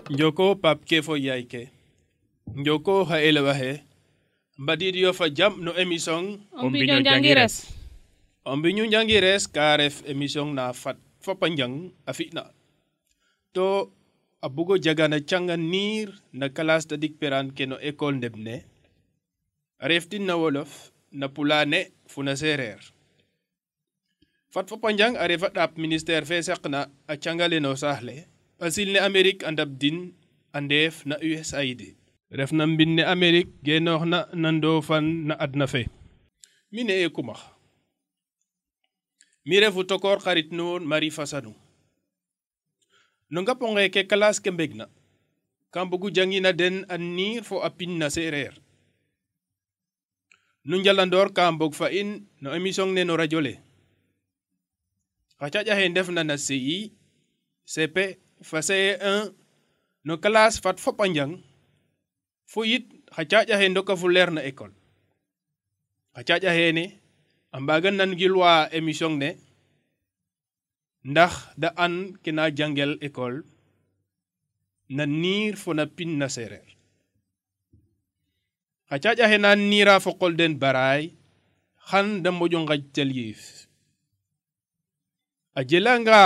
Njoko Pape ke fo yaay ke njoko ha elewa he mbadidio fa jam no émission o mbiño jangires o mbiñu jangires ka ref émission na fat fopa njang a fina to a bugo jagana canga niir na classe tadik peran ke no école ndebne reftin na wolof na pulane fu na sereer fat fopa njang a refa ɗap ministère fe saqna a cangale no saaxle asil ne Amérique andab din andef na USAID ref na mbin ne Amérique genoox na ndofan na adna fe mi ne e kumax mi refu tokor xarit nuun Marie Fassanu no ngaponge ke classe ke mbegna kam bugu jangina den a niir fo a pin na sereer nu njalandor ka mbog fa in no émission ne no radio le xa caƴa xe ndef na na CI CP fa CE1 no classe fat fop a njang fo yit xa caƴa xe ndoka fu leer na école xa caƴa xene a mbaga nan gilwa émission ne ndax da an kena jangel école na niir fo na pin na sereer xa caƴa xe na niira fo qol den baraay xan da moƴo ngaj tel yiif a jelanga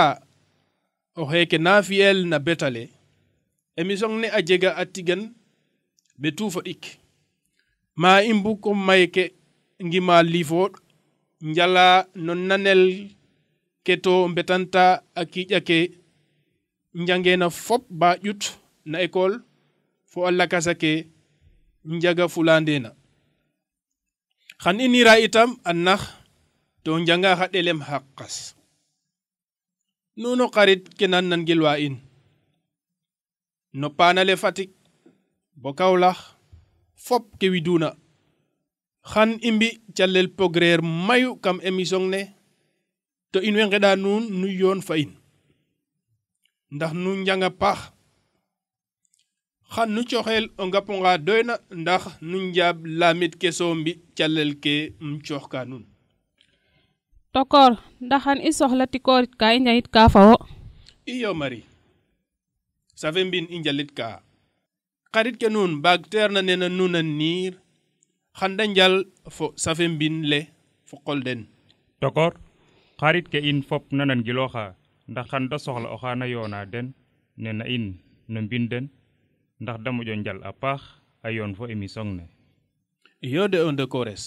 o xeke na fiyel na betale émission ne a jega a tigan be tuufo ɗik ma i mbuko mayke ngima lifoɗ njala no nanel ke to mbetanta a kiƴa ke njangena fop ba ƴut na école fo a lakasa ke njaga fulandena xan i nira itam a nax to njanga xa ɗelem xaqas nuno xarit ke nan gilwa in no panale Fatick bo Kaolack fop ke widuna xan i mbi calel pogreer mayu kam émission ne to in way ngeɗa nuun nu yoon fa in ndax nu njanga paax xan nu coxel o ngaponga doyna ndax nu njaab lamit ke so mbi calel ke cooxka nuun tokor ndaxan i soxla tikorit ka i njayit ka fawo iyo Marie safe mbin i njalit ka xarit ke nuun mbaag teer na nena nuun a niir xan da njal fo safe mbin le fo qol den tokor xarit ke in fop nanan giloxa ndax xan da soxla o xana yoona den nena in no mbin den ndax da moƴo njal a paax a yoon fo émission ne iyo de o ndekores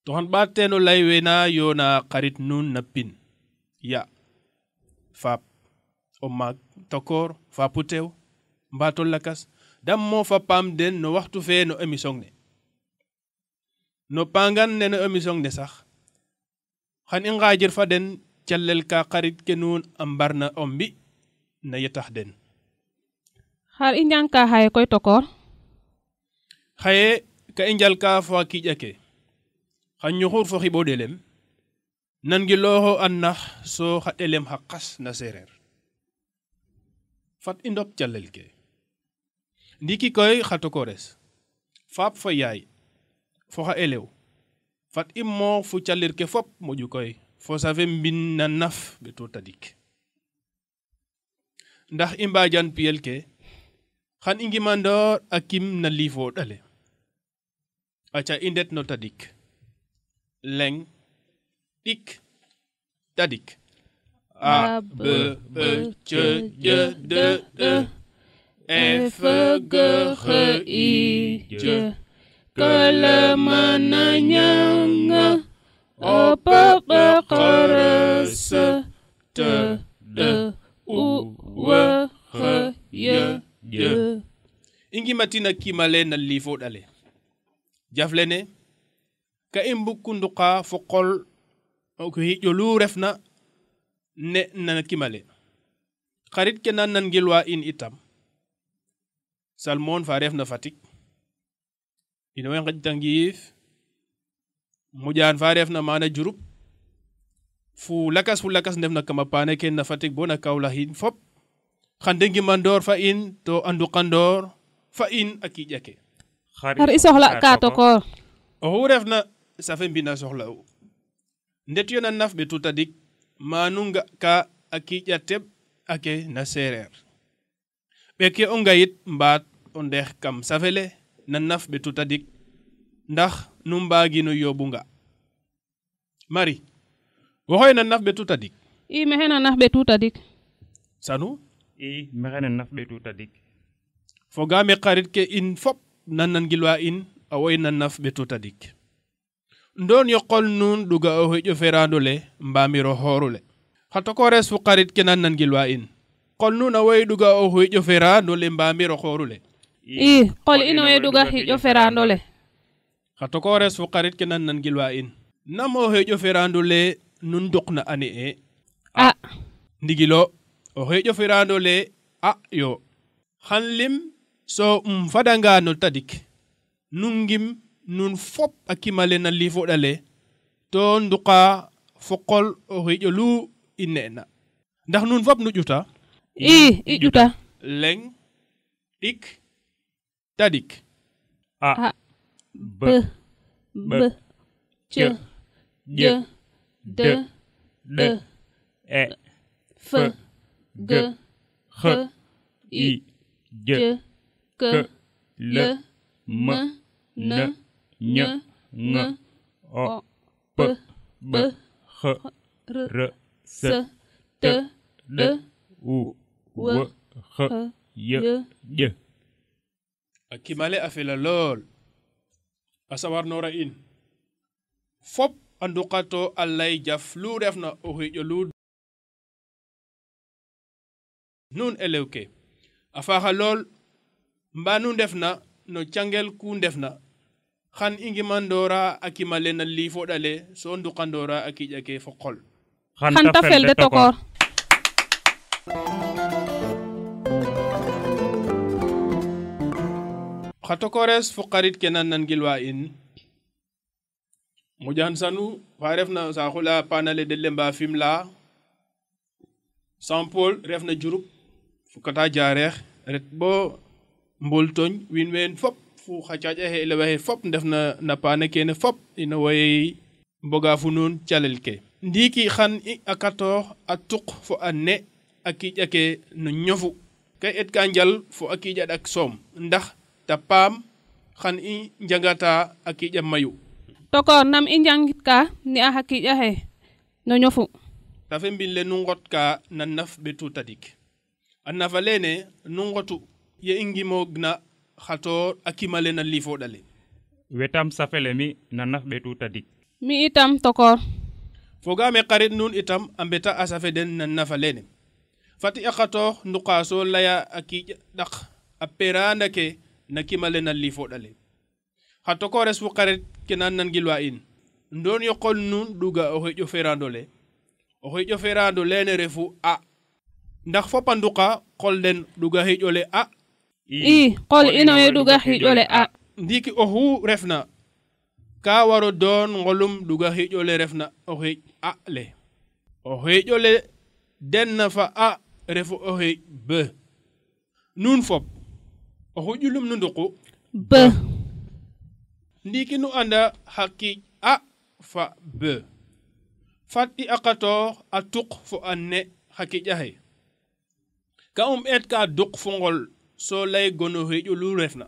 to xan ɓaat teen o lay wena yoona xarit nuun na pin ya faap o maag tokor faapu teew mbaato lakas dam moofa paam den no waxtu fe no émission ne no pangan ne no émission ne sax xan i ngaajir fa den calel ka xarit ke nuun a mbarna o mbi na yetax den xar i njang ka xaye koy tokor xaye ka i njal ka fo a kiƴa ke xan ñuxur fo xiɓo ɗelem nan gilooxo a nax so xa ɗelem xa qas na sereer fat i ndop calel ke ndiki koy xa tokores faap fo yaay fo xa elew fat i moox fu calir ke fop moƴu koy fo safe mbin na naf beto tadik ndax i mbajan piyel ke xan i ngimandoor a kim na liifo ɗale aca i ndet no tadik leng ɗik tadik a b b c d d e f g h i j k l m n ñ o p q q r s t d u w x y j i ngimatina kimale na liifo ɗale jaflene ka i mbukunduqa fo qol ko hiƴo lu refna ne na kimale xarit ke nan gilwa in itam Salmon fa refna Fatick ino way ngaj tangiif Mujaan fa refna mana Diouroup fu lakas ndefna kama paane ke na Fatick bo na Kaolack in fop xan de ngimandoor fa in to anduqandoor fa in a kiƴa ke xar i soxla ka tokor oxu refna safe mbina soxla u ndet yo na naf ɓetu tadik manu nga ka a kiƴa teɓ ake na sereer ɓeke o ngayit mbaat o ndeex kam safele na naf ɓetu tadik ndax nu mbaagino yóbbu nga Marie waxoy na naf ɓetu tadik i maxey na naf ɓetu tadik sanu i maxey na naf ɓetu tadik fogaame xarit ke in fop nan nangilwa in a woy na naf ɓetu tadik ndoon yoqol nuun ɗuga o heƴo ferando le mbamiro hoorule xa tokores fu xarit ke nan nangilwa in qol nuun a woy ɗuga o heƴo ferando le mbamiro hoorule i qol ino way ɗuga hiƴo ferando le xa tokores fu xarit ke nan nangilwa in nam o heƴo ferando le nun duqna ane e a ndigilo o heƴo ferando le a yo xan lim so fadanga no tadik nun ngim nun fop a kimale na lifoɗale to nduqa fo qol o heƴo lu i nena ndax nun fop nu ƴuta i ƴuta leng ɗik tadik a b b c j d d e f g h i j k l m n ñ ng o p b x r s t d u w x y j a kimale a fela lool a sawarnora in fop a nduqato a lay jaf lu refna o heƴo lu nun elew ke a faaxa lool mba nu ndefna no cangel ku ndefna xan i ngimandora a kimale na lifoɗale so nduqandora a kiƴa ke fo qol xan ta fel de tokor xa tokores fu xarit ke nan nangilwa in moƴan sanu fa refna saxula panale de lemba Fimela Saint Paul refna Diouroup fukata Diarekh ret bo Mbultoñ win ween fop fu xa caƴa xe elewa xe fop ndefna na paane kene fop ina way mboga fu nuun calel ke ndiiki xan i akatoox a tuq fo a ne a kiƴa ke no ñofu ka et ka njal fo a kiƴa ɗak soom ndax ta paam xan i njangata a kiƴa mayu tokor nam i njangit ka ni a xa kiƴa xe no ñofu ta fe mbin le nu ngot ka na naf ɓetu tadik a nafa lene nu ngotu ye i ngimogna xatoor a kimale na lifoɗale wetam safele mi na naf ɓetu tadik mi itam tokor fogaame xarit nuun itam a mbeta a safe den na nafa lene fati a xatoox nduqa so laya a kiƴa ɗak a peranda ke na kimale na lifoɗale xa tokores fu xarit ke nan nangilwa in ndoon yoqol nuun ɗuga o heƴo ferando le o heƴo ferando lene refu a ndax fop a nduqa qol den ɗuga heƴo le a i qol ino way ɗuga hiƴo le a ndiiki oxu refna ka waro doon ngolum ɗuga heƴo le refna o heƴ a le o heƴo le den na fa a refu o heƴ b nuun fop oxu ƴulum nu nduqu b ndiiki nu anda xa kiiƴ a fa b fat i aqatoox a tuq fo a ne xa kiƴa xe ka eet ka duq fo ngol so lay gono heƴo lu refna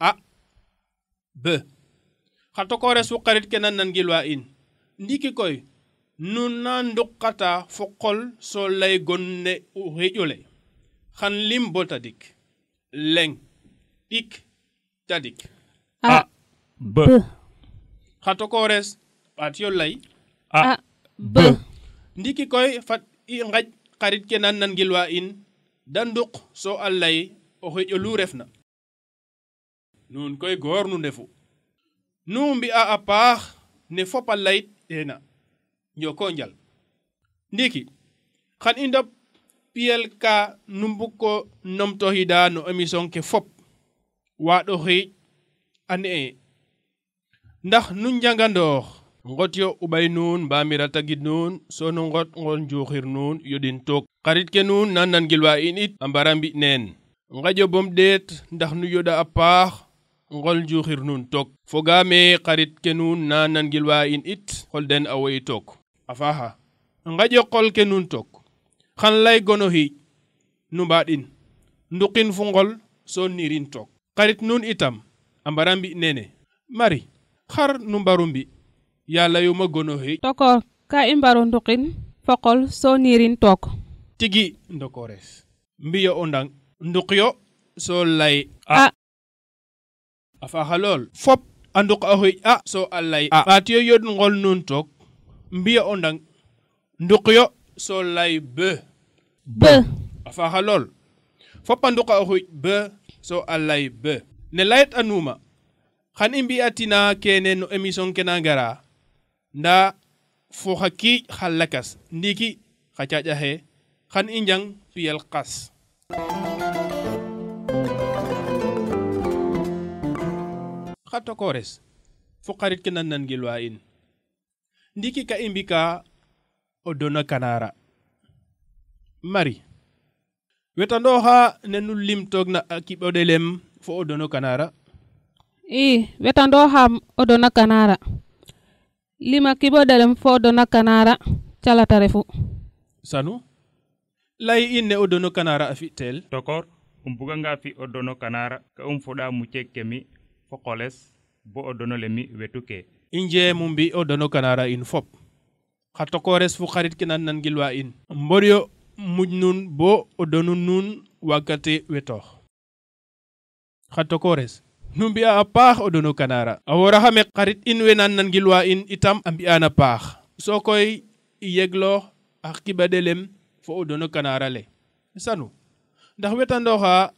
a b xa tokores fu xarit ke nan nangilwa in ndiki koy nun na nduqata fo qol so lay gon ne o heƴo le xan lim bo tadik leng ɗik tadik a b xa tokores ɓaat yo lay a b ndiki koy fat i ngaj xarit ke nan nangilwa in da nduq so a lay o heƴo lu refna nuun koy goor nu ndefu nu mbi'a a paax ne fop a layit ena njoko njal ndiki xan i ndop piyel ka nu mbug ko numtoxida no émission ke fop waaɗo xiic a ne'e ndax nu njangandoox ngot yo uɓay nuun mbamira tagid nuun so nu ngot ngol njuuxir nuun yoɗin took xarit ke nuun na nangilwa in it a mbara mbi neen ngaƴo bom ɗeet ndax nu yoɗa a paax ngol njuuxir nuun took fogaame xarit ke nuun na nangilwa in it xol den a woy took a faaxa ngaƴo qol ke nuun took xan lay gono xiic nu mbaaɗin nduqin fu ngol so nirin toog xarit nun itam a mbara mbi nene Marie xar nu mbaru mbi yàlla yu ma gono xëj tokor ka i mbaro nduqin foqol so nirin took tigi ndokores mbiyo o ndang nduqyo so lay a faaxa lool fop a nduq a xëj so a lay ɓaatiyo yod ngol nun took mbiyo o ndang nduqyo so lay be a faaxa lool fop a nduq a xëj be so a lay be ne layit anuma xan i mbi'atina kene no émission ke na ngara nda fo xa kiic xa lakas ndiki xa caaƴaxe xan i njang piyel qas xa tokores fo xarit ke nan gilwa in ndiki ka i mbika o dona kanara Marie wetandooxa ne nu lim toog na a kiɓodelem fo o dono kanara wetandooxam o dona kanara lima kiɓodelem fo o dona kanara calata refu Sanu lay in ne o dono kanara a fi'tel tokor buga nga fi o dono kanara ka foɗa mucek ke mi fo qoles bo o dono le mi wetu ke inje mu mbi o dono kanara in fop xa tokores fu xarit ke nan gilwa in mboryo muj nun bo o donu nun wakate wetoox xa tokores nu mbi'a a paax o dono kanara a wora xame xarit in we nan gilwa in itam a mbi'an a paax so koy i yegloox a kiɓadelem fo o dono kanara le Sanu ndax wetandooxa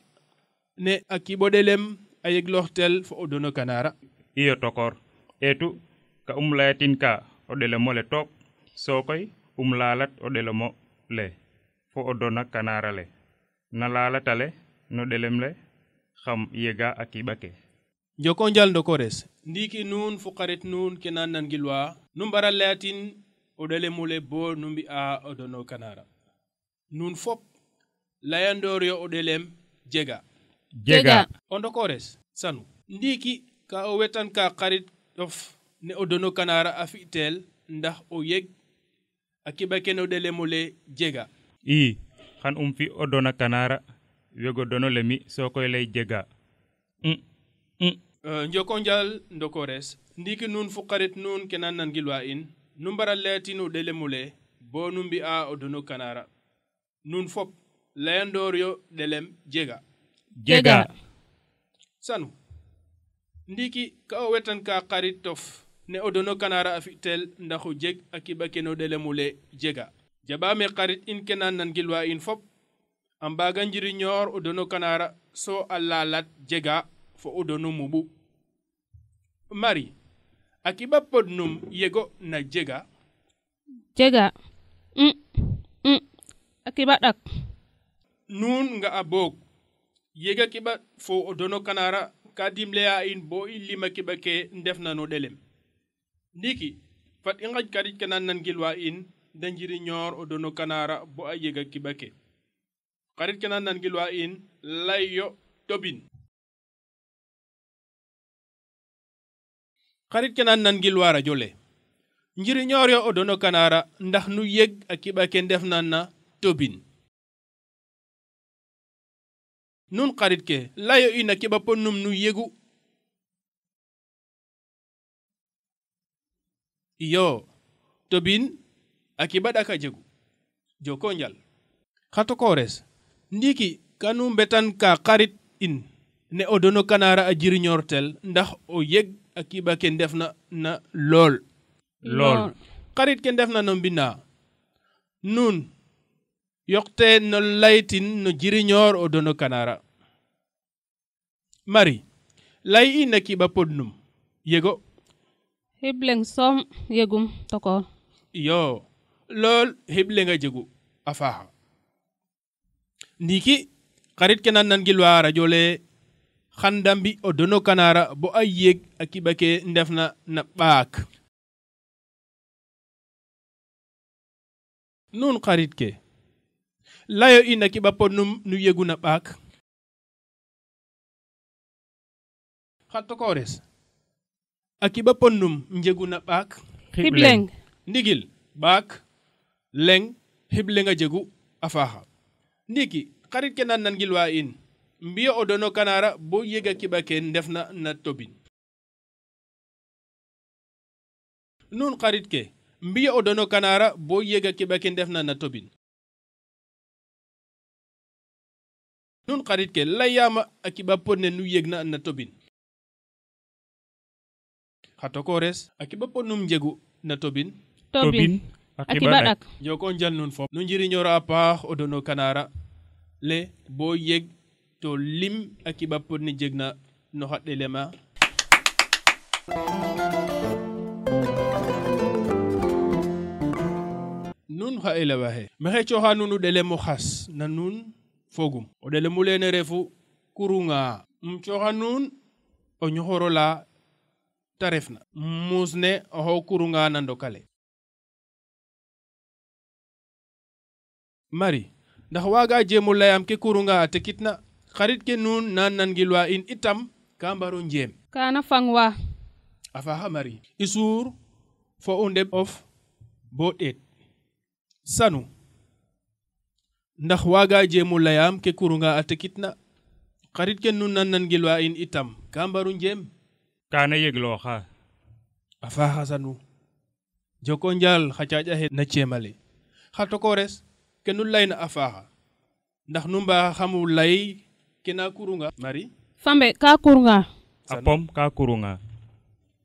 ne a kiɓodelem a yeglooxtel fo o dono kanara iyo tokor etu ka layatin ka o ɗelemo le took so koy lalat o ɗelemo le fo o dona kanara le na lalatale no ɗelem le xam yega a kiɓa ke Njoko njal ndokores ndiki nun fu xarit nun ke nan gilwa nu mbara layatin o ɗelemule bo nu mbi'a o dono kanara nun fop layandoor yo o ɗelem jega o ndokores Sanu ndiki ka o wetan ka xarit of ne o dono kanara a fi'tel ndax o yeg a kiɓa ke no ɗelemule jega xan fi o dona kanara wego dono le mi so koy lay jega Njoko njal ndokores ndiki nun fu xarit nun ke nan gilwa in nu mbara layatin o ɗelemule bo nu mbi'a o dono kanara nun fop layandoor yo ɗelem jega Sanu ndiki ka o wetan ka xarit tof ne o dono kanara a fi'tel ndax o jeg a kiɓa ke no ɗelemule jega jaɓame xarit in ke nan gilwa in fop a mbaga njiriñoor o dono kanara so a lalat jega fo o dono muɓu Marie a kiɓa podnum yego na jega a kiɓa ɗak nun nga a boog yega kiɓa fo o dono kanara ka dimleya in bo i lima kiɓa ke ndef na no ɗelem ndiki fat i ngaj karit ke nan gilwa in da njiriñoor o dono kanara bo a yega kiɓa ke xarit ke nan gilwa in lay yo tobin xarit ke nan gilwa radio le njiriñoor yo o dono kanara ndax nu yeg a kiɓa ke ndef na na tobin nun xarit ke layo ina kiɓa podnum nu yegu iyo tobin a kiɓa ɗaka jegu Joko njal xa tokores ndiki kanu mbetan ka xarit in ne o dono kanara a jiriñoortel ndax o yeg a kiɓa ke ndef na lool xarit ke ndef na no mbina nun yoqte no laytin no jiriñoor o dono kanara Marie lay ina kiɓa podnum yego xibleng som yegum tokor iyo lool xiblenga jegu a faaxa ndiki xarit ke nan gilwa radio le xan da mbi o dono kanara bo a yeg a kiɓa ke ndef na ɓaak nun xarit ke layo ina kiɓa podnum nu yegu na ɓaak xa tokores a kiɓa podnum njegu na ɓaak xibleng ndigil ɓaak leng xiblenga jegu a faaxa ndiki xarit ke nan gilwa in mbiya o dono kanara bo yega kiɓa ke ndefna na tobin nun xarit ke mbiya o dono kanara bo yega kiɓa ke ndefna na tobin nun xarit ke layama a kiɓa podne nu yegna na tobin xa tokores a kiɓa podnum njegu na tobin a kiɓa ɗak joko njal nun fop nu njiriñoro a paax o dono kanara le bo yeg to lim a kiɓa podne jegna no xa ɗelema nun xa elewa xe maxey cooxa nuun o ɗelemo xas na nuun fogum o ɗelemu lene refu kurunga cooxa nuun o ñoxoro la ta refna muus ne oxo kurunga na ndokale Marie ndax waga jemo layam ke kurunga a tekitna xarit ke nuun na nangilwa in itam ka mbaro njeem kana fangwa a faxa Marie i suur fo o ndeɓ of bo ɗeet sanu ndax waga jemo layam ke kurunga a tekitna xarit ke nuun na nangilwa in itam ka mbaro njeem kana yegloxa a faxa sanu joko njal xa caƴa xe na ceemale xa tokores ke nu layna a faaxa ndax nu mba xamu lay ke na kurunga Marie fambe ka kurunga a pom ka kurunga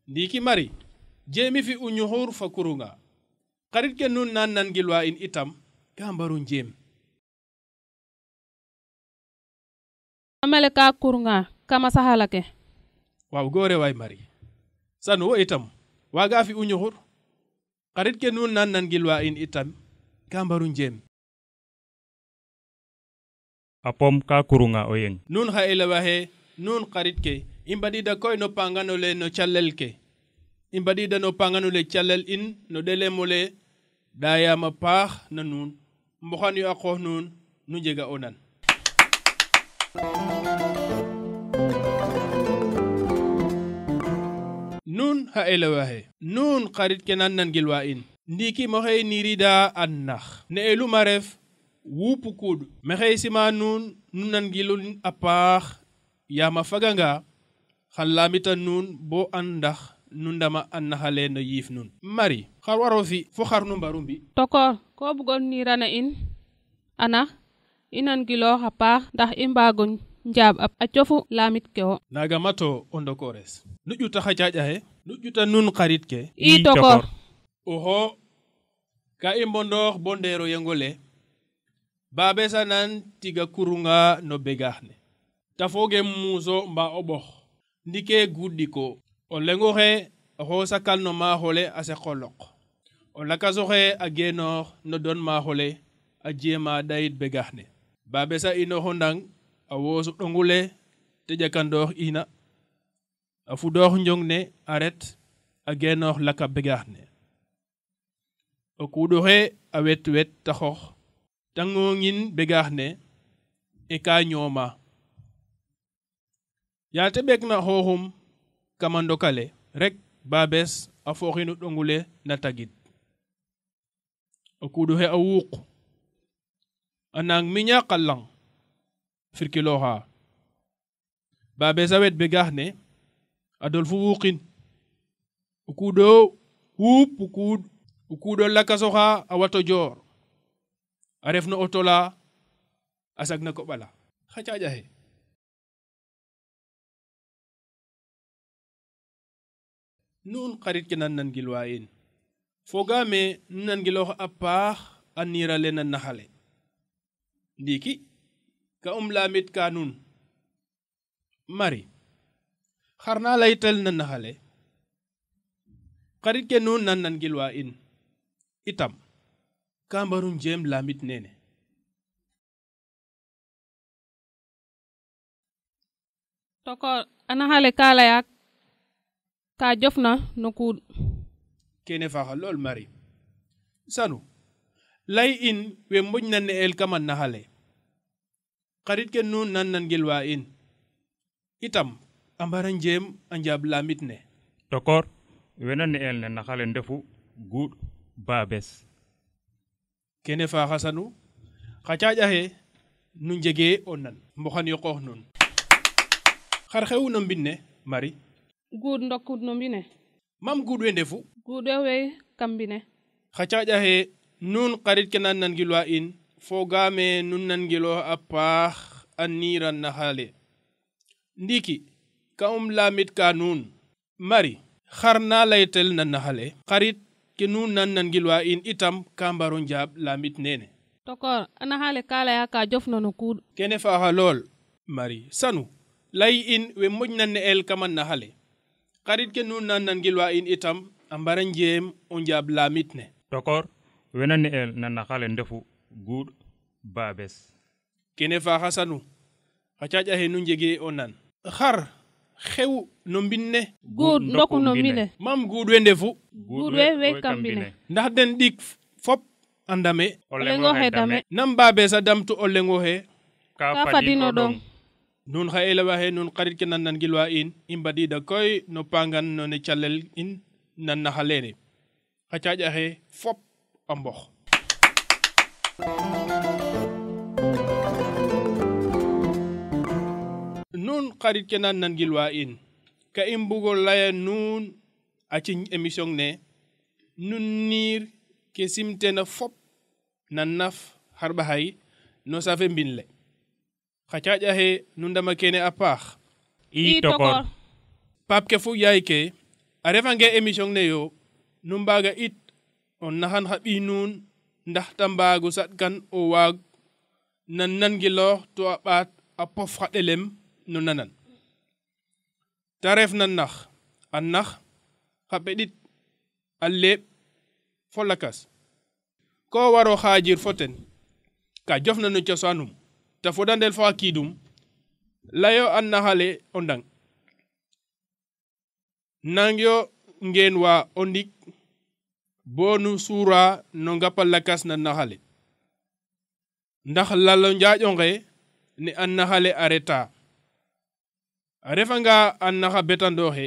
ndiki Marie jemi fi u ñuxur fa kurunga xarit ke nun na nangilwa in itam ka mbaro njeem famele ka kurunga kama saxala ke waaw goore waay Marie sanu wo itam waga fi u ñuxur xarit ke nun na nangilwa in itam ka mbaro njeem a pom ka kurunga o yeng nun xa elewa xe nun xarit ke i mbadida koy no pangano le no calel ke i mbadida no pangano le calel in no ɗelemo le dayama paax na nuun mboxan yo a qoox nuun nu njega o nan nun xa elewa xe nun xarit ke nan nangilwa in ndiki moxey nirida an nax ne eluma ref wupu kud maxey sima nuun nu nangilun a paax yama faganga xan lamita nuun bo an ndax nu ndama an naxale no yiif nuun Marie xar waro fi fo xar nu mbaru mbi tokor ko bugon nirana in ana i nangiloox a paax ndax i mbago njaab a cofu lamit ke wo naga mato o ndokores nu ƴuta xa caƴa xe nu ƴuta nun xarit ke i tokor oxo ka i mbondoox bo ndeero yengole babesa nan tiga kurunga no begaax ne ta fooge muuso mba o ɓox ndike guɗɗiko o lengoxe oxo sakal no maaxole a seqoloq o lakasoxe a genoox no don maaxole a jeema ɗayit begaax ne babesa inoxo ndang a woosu ɗongule te ƴakandoox ina a fudoox njong ne a ret a genoox laka begaax ne o kuuɗoxe a wet wet ta xoox tangongin begaax ne e ka ñooma yaa te ɓek na xooxum kama ndokale rek babes a fooxinu ɗongule na tagid o kuuɗoxe a wuuq a nang miña qalang firkilooxa babes a wet begaax ne a dol fu wuuqin o kuuɗo wuup o kuuɗo lakasoxa a wato joor a ref no auto la a sag na koɓala xa caƴa xe nun xarit ke nan nangilwa in fogame nu nangiloox a paax a nirale na naxale ndiki ka lamit ka nun Marie xar na laytel na naxale xarit ke nun nan nangilwa in itam ka mbaru njeem lamit nene tokor a naxale ka laya ka jofna no kuuɗ kene faxa lool Marie sanu lay in we moƴna ne'el kama naxale xarit ke nun nan nangilwa in itam a mbara njeem a njaab lamit ne tokor wena ne'el ne naxale ndefu guuɗ babes kene faxa sanu xa caƴa xe nu njege o nan mboxan yo qoox nun xar xewu no mbine Marie guud ndokud no mbine mam guud we ndefu guud we kam mbine xa caaƴa xe nuun xarit ke nan gilwa in fogaame nun nan gilo a paax a niiran na xale ndiki ka lamit ka nuun Marie xar na laytel na naxale xarit ke nuun nan gilwa in itam ka mbaro njaab lamit nene tokor ana xale ka laya ka jof no kuud kene faaxa lool Marie sanu lay in we moƴna ne'el kama naxale xarit ke nuun nan gilwa in itam a mbara njeem o njaab lamit ne tokor wena ne'el na naxale ndefu guud babes kene faaxa sanu xa caaƴa xe nu njege o nan xar xew no mbinne guud ndoku no mbine mam guud we ndefu guud we kam mbine ndax den ɗik fop a ndame o lengo xe dame nam babes a damtu o lengo xe ka fadino ɗong nun xa elewa xe nun xarit ke nan gilwa in i mbadida koy no pangan no ne calel in nan naxa lene xa caaƴa xe fop a mbox nun xarit ke nan gilwa in ka i mbugo laya nuun a ciñ émission ne nun niir ke simtena fop na naf xarɓaxay no safe mbin le xa caaƴa xe nu ndama kene a paax i tokor paap ke fu yaay ke a refange émission ne yo nu mbaga it o naxan xa ɓiy nuun ndax ta mbaagu saɗkan o waag nan giloox to a ɓaat a pof xa ɗelem no nanan ta ref na nax a nax xa peɗit a leɓ fo lakas ko waro xaajir fo ten ka jofna no cosaanum ta fodandel fo a kiidum layo a naxale o ndang nangyo ngeen wa o ndik bo nu suura no ngapa lakas na naxale ndax lalo njaaƴo nge ne a naxale a reta a refanga a naxa betandooxe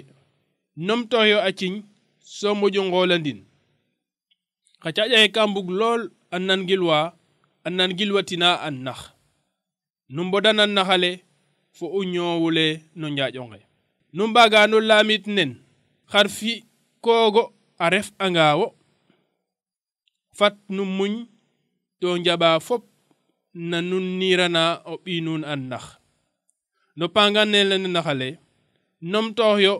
numtoyo a ciñ so moƴo ngoolandin xa caaƴa xe ka mbug lool a nan gilwatina a nax nu mbodana naxale fo o ñoowule no njaaƴo nge nu mbaga no lamit nen xar fi koogo a ref angawo fat nu muñ to njaɓa fop na nun niirana o ɓiy nuun a nax no pangan ne lene naxale numtoox yo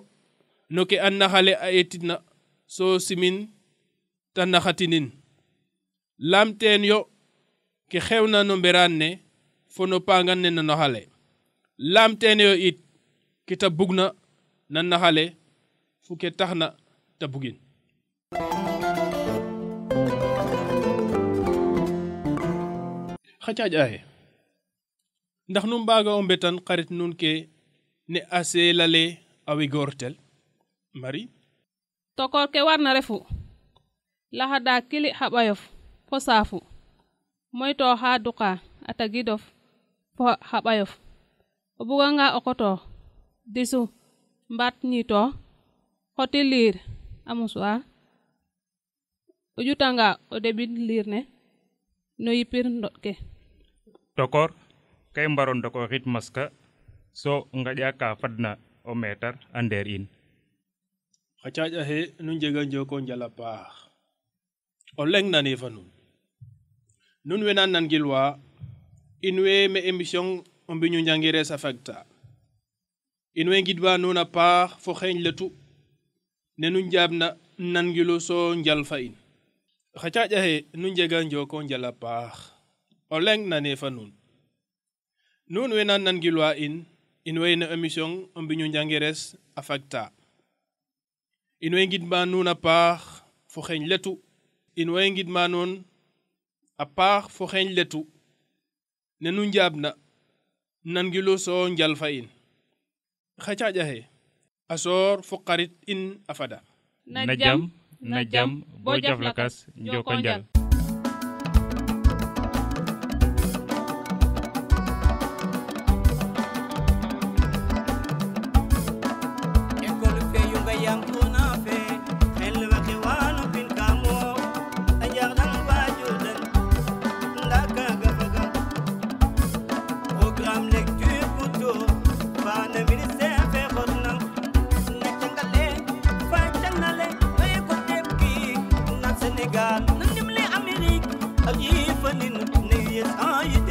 no ke a naxale a etidna so simin ta naxatinin lamteen yo ke xewna no mberaan ne fo no pangan ne no naxale lamteen yo it ke ta bugna na naxale fu ke taxna ta bugin xa caaƴa xe ndax nu mbaga o mbetan xarit nun ke ne a seelale a wegortel Marie tokor ke warna refu laxada kili xa ɓayof fo saafu moyto xa duqa a tagidof fo xa ɓayof o buganga o koto disu mbat ñito xoti liir a musuwar o jutanga o debin liir ne no yipir ndot ke tokor kay mbaro ndoko xit maska so ngaƴa ka fadna o metar a ndeer in xa caaƴa xe nu njega njoko njala paax o leng nane fa nun we nan gilwa in we me émission o mbiñu njangire sa fagta in we ngidwa nuun a paax fo xeeñ letu ne nu njaabna nangilu so njal fa in xa caaƴa xe nu njega njoko njala paax o leng nane fa nun we nan gilwa in we no émission o mbiñu njangires a fagta in we ngidma nuun a paax fo xeeñ letu in we ngidma nuun a paax fo xeeñ letu ne nu njaabna nangilu so njal fa in xa caaƴa xe a soor fo xarit in a fada na jam bo jaf lakas njoko njal Lecture couteau, pas de ministère. أجيفن نية آية